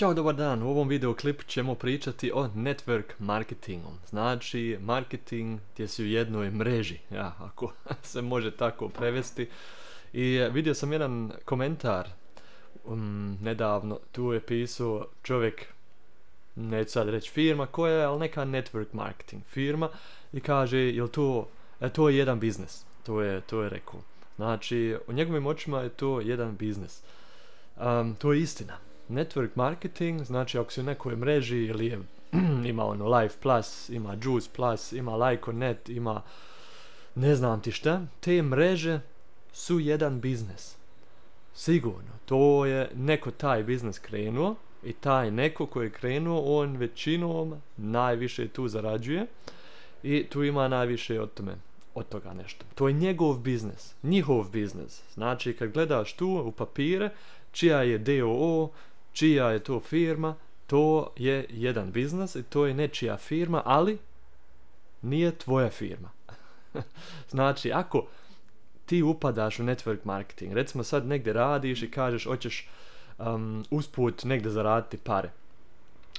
Ćao, dobar dan. U ovom videoklipu ćemo pričati o network marketingu. Znači, marketing gdje si u jednoj mreži, ako se može tako prevesti. I vidio sam jedan komentar nedavno, tu je pisao čovjek, neću sad reći firma koja je, ali neka network marketing firma, i kaže, jel to je jedan biznis. To je rekao. Znači, u njegovim očima je to jedan biznis. To je istina. Network marketing, znači ako si u nekoj mreži ili ima Live Plus, ima Juice Plus, ima Lyko.net, ima ne znam ti šta, te mreže su jedan biznis. Sigurno, to je neko taj biznis krenuo i taj neko koji je krenuo, on većinom najviše tu zarađuje i tu ima najviše od toga nešto. To je njegov biznis, njihov biznis. Znači kad gledaš tu u papire, čija je DOO, čija je to firma, to je jedan biznis i to je nečija firma, ali nije tvoja firma. Znači, ako ti upadaš u network marketing, recimo sad negdje radiš i kažeš hoćeš usput negdje zaraditi pare,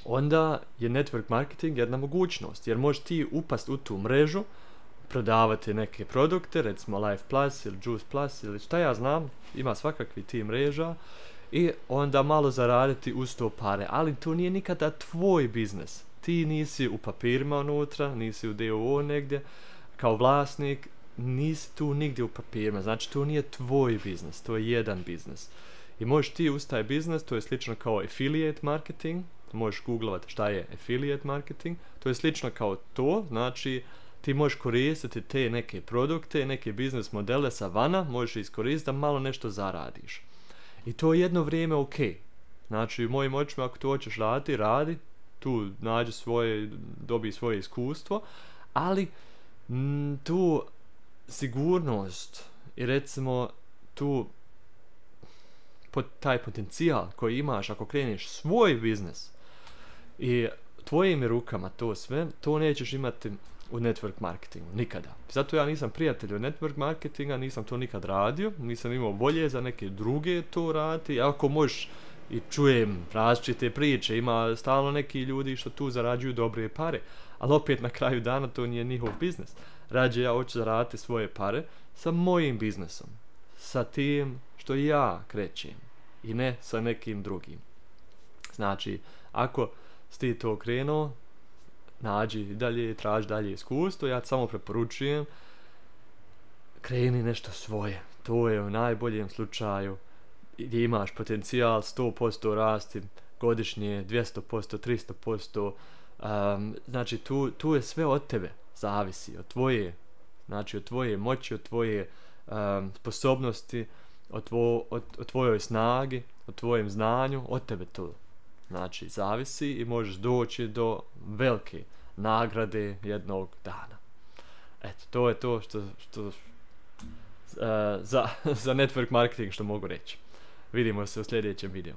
onda je network marketing jedna mogućnost, jer možeš ti upast u tu mrežu, prodavati neke produkte, recimo Live Plus ili Juice Plus ili šta ja znam, ima svakakvi ti mreža, i onda malo zaraditi uz to pare, ali to nije nikada tvoj biznis. Ti nisi u papirima unutra, nisi u DOO negdje, kao vlasnik, nisi tu nigdje u papirima, znači to nije tvoj biznis, to je jedan biznis. I možeš ti uz taj biznis, to je slično kao affiliate marketing, možeš googlovati šta je affiliate marketing, to je slično kao to, znači ti možeš koristiti te neke produkte, neke biznis modele sa vana, možeš iskoristiti da malo nešto zaradiš. I to je jedno vrijeme ok. Znači, u mojim očima, ako to hoćeš raditi, radi, tu nađi dobi svoje iskustvo, ali tu sigurnost i recimo tu taj potencijal koji imaš ako kreneš svoj biznis i tvojim rukama to sve, to nećeš imati u network marketingu, nikada. Zato ja nisam prijatelj od network marketinga, nisam to nikad radio, nisam imao volje za neke druge to raditi, ako možeš i čujem različite priče, ima stalno neki ljudi što tu zarađuju dobre pare, ali opet na kraju dana to nije njihov biznis. Rađe ja hoću zaraditi svoje pare sa mojim biznisom, sa tim što ja krećem i ne sa nekim drugim. Znači, ako si ti to krenuo, nađi dalje, traži dalje iskustvo, ja ti samo preporučujem, kreni nešto svoje. To je u najboljem slučaju gdje imaš potencijal 100% rasti godišnje, 200%, 300%, znači tu je sve od tebe, zavisi od tvoje, znači od tvoje moći, od tvoje sposobnosti, od tvojoj snagi, od tvojem znanju, od tebe to. Znači, zavisi i možeš doći do velike nagrade jednog dana. Eto, to je to što za network marketing što mogu reći. Vidimo se u sljedećem videu.